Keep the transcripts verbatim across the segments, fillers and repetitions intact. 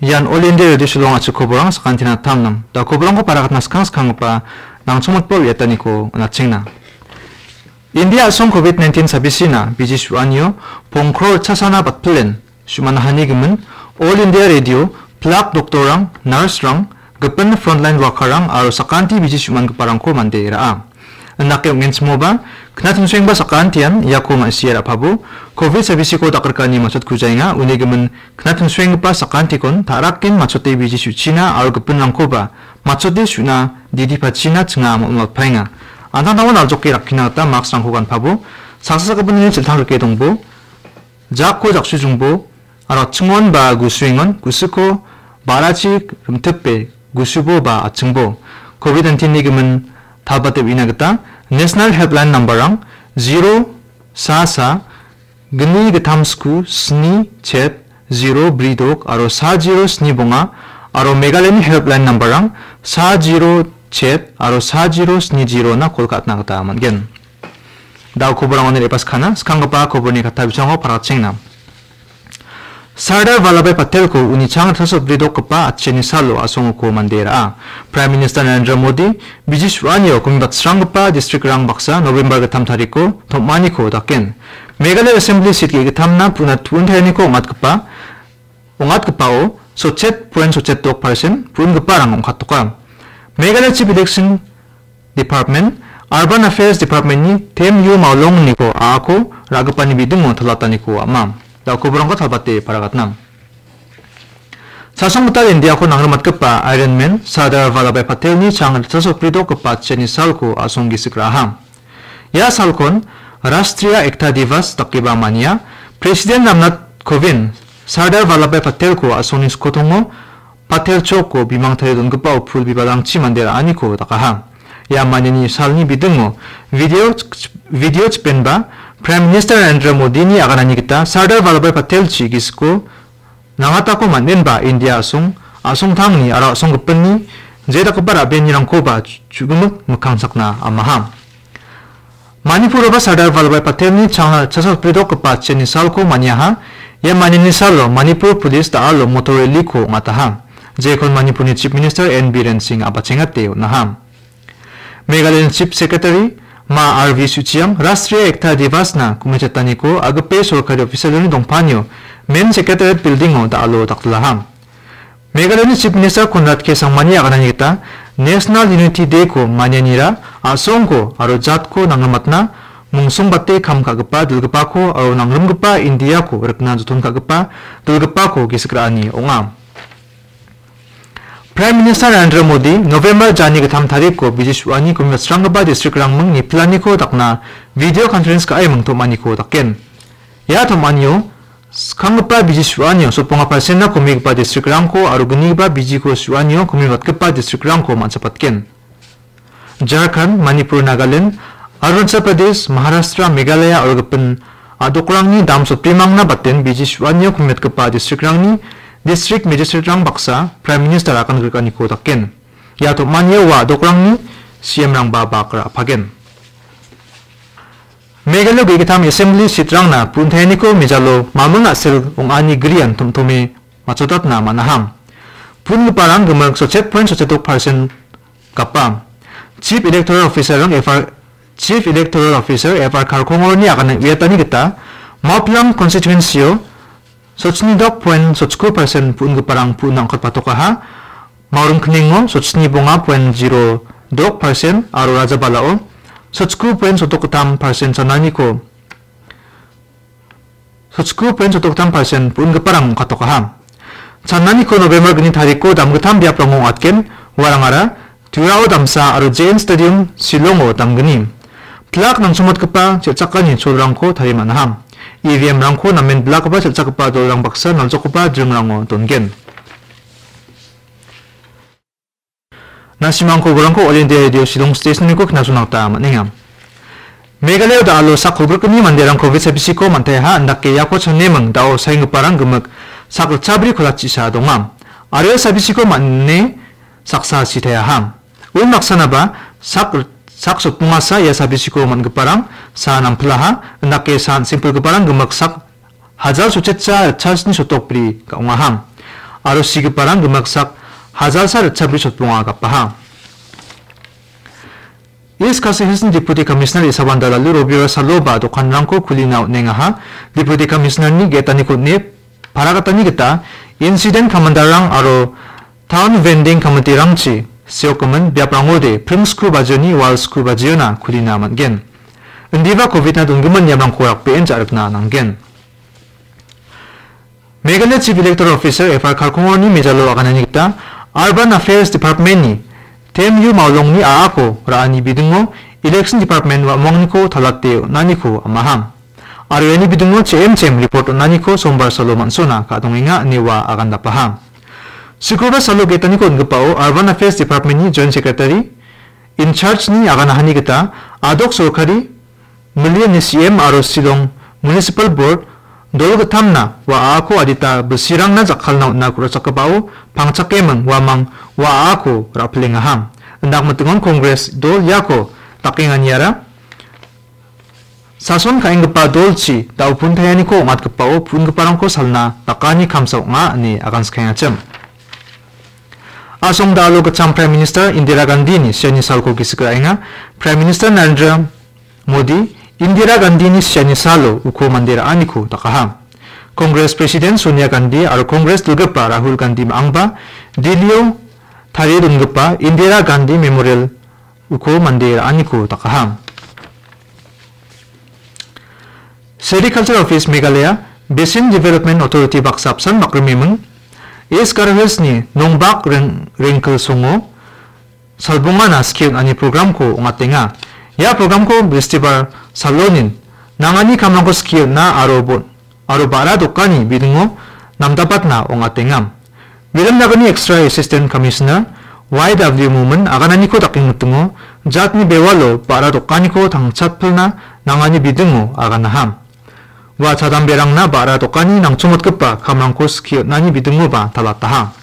Ian All India Radio Shillong a·chik koborang sakantina tamnam. Da koborangko parakatna skang skanggipa nangchongmitba uiataniko on·atchengna. India a·song covid nineteen sabisina biji su·anio pongkro ritchasana batpilen su·manahani gimin All India Radio, plak doktorrang, nurse-rang, gipin frontline worker-rang aro sakanti biji su·mangiparangko mande ra·a. Indake ong·enchimoba, knattingsoengba sakantian iako ma·sie ra·pabo, covid sabisiko dakrikani matchotkujaenga, uni gimin knattingsoenggipa sakantikon ta·raken matchote biji su·china aro gipinrangkoba matchote su·na didi pachina chinga am·, am·atpaenga. An·tangtango naljoke rakkina gita mask-rangko ganpabo, saksa sakgipinini chiltang rike dongbo, jako jaksujungbo, aro chingon ba gusuengon, gusiko ba·rachi rimtipe gusubo ba achingbo. covid nineteen-ni gimin talbate uina gita National Helpline number-rang zero sa sa gni gittam sku sni chet zero bri dok aro sa zero sni bonga aro Meghalayani helpline number-rang sa zero chet aro sa zero sni zero-na kol ka·atna gita man·gen. Da·o koborangoni re·baskana, skanggipa koborni katta bisingo parakchengna. Sardar Vallabhbhai Patelko uni chang ritchasa bri dokgipa atchiani salo asongako mande ra·a. Prime Minister Narendra Modi biji su·anio komibatsranggipa district-rang baksa November gittam tariko tom·aniko daken. Meghalaya Assembly seat ge·gittamna puna tu·ontaeniko ong·atgipa, ong·atgipao sotchet point sotchet dok percent pu·ongiparang ong·katoka. Meghalaya Chief Election Department, Urban Affairs Department-ni Tem Yu Maolongniko a·ako ra·gipani bidingo talataniko ama. Da·o koborangko talbate paragatna. Chasong gital Indiako nangrimatgipa Iron Man Sardar Vallabhbhai Patelni chang ritchasa bri dokgipa atchiani salko a·song gisik ra·aha. Ia salkon Rashtriya Ekta Divas dakeba mania, President Ramnath Kovind Sardar Vallabhbhai Patelko a·songni skotongo Patel Chowko bimang tarie dongipao pul bibalrangchi mande ra·aniko dakaha. Ia maniani salni bidingo video, video chipenba Prime Minister Narendra Modini aganani gita Sardar Vallabhbhai Patelchi gisiko nangatako man·enba India a·song, a·songtangni aro a·songgipinni je dakgipa ra·benirangkoba chu-, chu·gimik mikkangsakna amaha. Manipuroba Sardar Vallabhbhai Patelni chang ritchasa bri dokgipa atchiani salko maniaha. Ia maniani salo Manipur Police da·alo motor rally-ko ong·ataha. Jekon Manipurni Chief Minister N Biren Singh a·bachengate on·aha. Meghalayani Chief Secretary Ma R V Suchiang Rashtriya Ekta Divas-na kumichataniko agipe sorkari official-rangni dongpanio Main Secretariat Building-o da·alo daktilaha. Meghalayani Chief Minister Conrad K Sangmani aganani gita National Unity Day-ko manianira a·songko aro jatko nangrimatna, mungsongbate kam ka·gipa dilgipako aro nangrimgipa Indiako rikna joton ka·gipa dilgipako gisik ra·ani ong·a. Prime Minister Narendra Modi November jani gittam tariko biji su·ani komibatsranggipa district-rangming nipilaniko dakna video conference ka·e mingtom·aniko daken. Ia tom·anio skanggipa biji su·anio sotbonga percent-na komigipa district-rangko aro gnigipa bijiko su·anio komibatgipa district-rangko man·sipatgen. Jharkhand, Manipur, Nagaland, Arunachal Pradesh, Maharashtra, Meghalaya aro gipin a·dokrangni dam sotbrimangna baten biji su·anio komiatgipa district-rangni district magistrate-rang baksa Prime Minister akan grikaniko daken. Ia tom·anio ua a·dokrangni C M-rangba bak ra·pagen. Meghalaya ge·gittam assembly seat-rangna pun·taeniko mejalo maming a·sel ong·ani grian tom·tome matchotatna man·aha. Pun·giparang gimik sotchet point sotchet dok percent gapa. Chief Electoral Officer-rang F R, Chief Electoral Officer F R Kharkongorni agane uiatani gita Mawplang constituency-o sotchni dok point sotchku percent pun·giparang pun·na ong·katpatokaha. Mawrim kningo sotchni bonga point zero dok percent aro Rajabalao sotchku point sotdok gittam percent chananiko sotchku point sotdok gittam percent pun·giparang ong·katokaha. Chananiko November gni tariko damgittam biaprango ong·atgen, uarangara Turao damsa aro J N Stadium, Shillongo damgni. Plak nangchongmatgipa chel·chakani cholrangko tarie man·aha. E V M-rangko namen bilakgipa chel·chakgipa dolrang baksa naljokgipa dringrango dongen. Na·simangko uarangko All India Radio Shillong Station-niko knasona gita man·enga. Meghalaya da·alo sak kolgrikni manderang covid sabisiko man·taiaha, indake iako chaneming da·o saenggiparang gimik sak ritchabri kolachisa donga. Aro ia sabisiko man·e saksa sitaiaha. Unbaksanaba sak, sak sotbongasa ia sabisiko man·giparang sa nampilaha, indake sa an·sengpilgiparang gimik sak hajal sotchetcha ritchasni sotokbri ka·ongaha. aro sigiparang gimiksak hajalsa ritchabri chotbonga gapaha. East Khasi Hills-ni Deputy Commissioner Isabanda Lalu Robiora saloba dokanrangko kulina on·engaha. Deputy Commissioner-ni ge·etaniko on·e paragatani gita incident commander-rang aro town vending committee-rangchi seokgimin biaprangode pring sku bajioni wal sku bajiona kulina man·gen. Indiba covid-na donggimin niamrangko rakbeen ja·rikna nanggen. Meghalaya Chief Electoral Officer F R Kalkongoni mejalo aganani gita Urban Affairs Department-ni Tem Yu Maolongni a·ako ra·ani bidingo Election Department wa·mongniko talate on·aniko amaham. Aro iani bidingo che·em che·em report on·aniko sombar salo man·sona ka·dongenga ine ua agandapaha. Sukurbar salo ge·etaniko on·gipao Urban Affairs Department-ni Joint Secretary in charge-ni aganahani gita adok sorkari Million C M aro Shillong Municipal Board dol gittamna wa a·ako adita bilsirangna jakkalna on·na ku·rachakgipao pangchakeming uamang wa a·ako ra·pilengaham. Indak mitingon Congress dol iako dakenganiara sason ka·enggipa dolchi da·o pun taianiko ong·atgipao pun·giparangko salna dakani kamsa ong·a ine aganskengachim. Asong da·alo gitcham Prime Minister Indira Gandhi-ni siani salko gisik ra·enga. Prime Minister Narendra Modi, Indira Gandhini siani salo uko mande ra·aniko dakaha. Congress President Sonia Gandhi aro Congress dilgipa Rahul Gandhi ma·angba Delhio tarie dongipa Indira Gandhi Memorial uko mande ra·aniko dakaha. Sericulture Office Meghalaya, Basin Development Authority baksa apsan bakrimeming, East Garo Hills-ni Nongbak Reng-, Rengkelsongo, Salbongana skie on·ani programko ong·atenga. Ia programko Bristibar salonin nangani kamrangko skie on·a aro bo-, aro ba·ra dokani bidingo namdapatna ong·atenga. Viram Nagarni Extra Assistant Commissioner Y W Momin agananiko dakengmitingo jatni bewalo ba·ra dokaniko tangchatpilna nangani bidingo aganaham. Ua chadamberangna ba·ra dokani nangchongmotgipa kamrangko skie on·ani bidingoba talataha.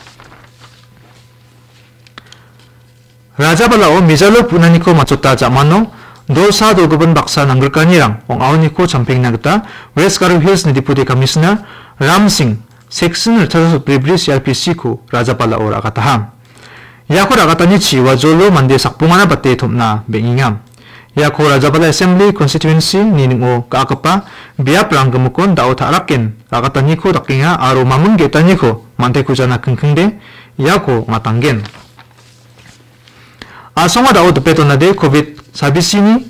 Rajabalao mijalo punaniko matchota jamano dolsa dolgipin baksa nanggrikanirang ong·aoniko champengna gita West Garo Hills-ni Deputy Commissioner Ram Singh, Section ritchasa sotbribri C R P C-ko Rajabalao ra·gataha. Iako ra·gatanichi ua jolo mande sakbongana bate tom·na beng·enga. Iako Rajabala Assembly Constituency-ni ning·o ga·gipa biaprang gimikon da·o ta·raken ra·gataniko dakenga aro maming ge·taniko mante kujana kingkingde iako ong·atanggen. Asonga da·o dipe donade covid sabisini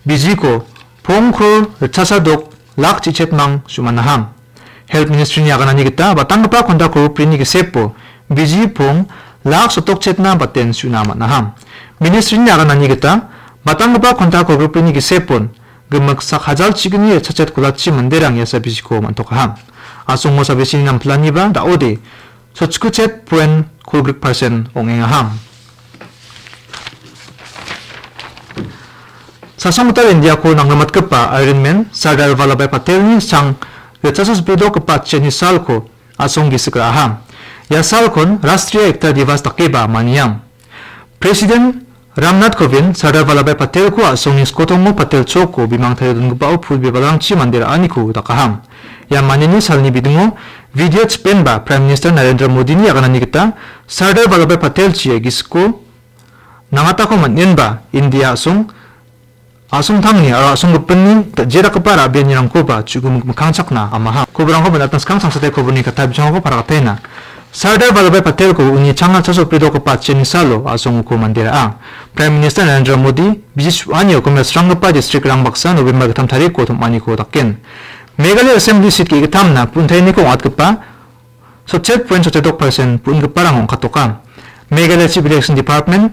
bijiko pong kror ritchasa dok lak chichetmang su·manaham. Health Ministry-ni aganani gita batanggipa konda kolgrikbrini gisepo biji pong lak sotokchetna baten su·na man·aham. Ministry-ni aganani gita batanggipa konda kolgrikbrini gisepon gimik sak hajal chigni ritchachet kolachi manderang ia sabisiko man·tokaham. Asongo sabisini nampilaniba da·ode sotchikuchet poen kolgrik persen ong·engaham. Sasonggital Indiako nangrimatgipa Iron Man Sardar Vallabhbhai Patelni sang ritchasa sipidokgipa chiani salko asong gisik ra·aha. Ia salkon Rashtriya Ekta Divas dakeba maniam. President Ramnath Kovind Sardar Vallabhbhai Patelko a·songni skotongo Patel Chowko bimang tarie dongipao pul bibalrangchi mande ra·aniko dakaham. Ia manini salni bidingo video chipenba Prime Minister Narendra Modini aganani gita Sardar Vallabhbhai Patelchi ia gisiko nangatako man·enba India a·song, a·songtangni aro a·songgipinni da-, je dakgipa ra·bianirangkoba chu·gimik mikkangchakna amaha. Koborangko bonatna skang sangsate koborni katta bijangrangko paragatenga. Sardar Vallabhbhai Patelko uni changa chaso pridokgipa chiani salo a·songuko mande ra·a. Prime Minister Narendra Modi biji su·anio gimik sranggipa district-rang baksa November gittam tariko tom·aniko daken. Meghalaya Assembly seat ge·gittamna puntainiko ong·atgipa sotchet poen sotchet dok persen pun·giparang ong·katoka. Meghalaya Chief Election Department,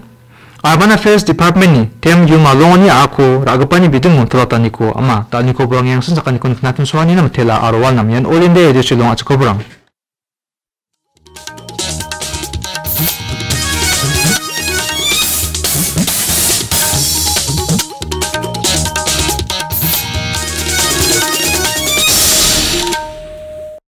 Urban Affairs Department-ni Tem Yu Malongoni a·ako ra·gipani bidingo talataniko ama. Da·alni koborang iangsan sakaniko nikna tun·soanina mitela aro walnam ian All India Radio Shillong a·chik koborang.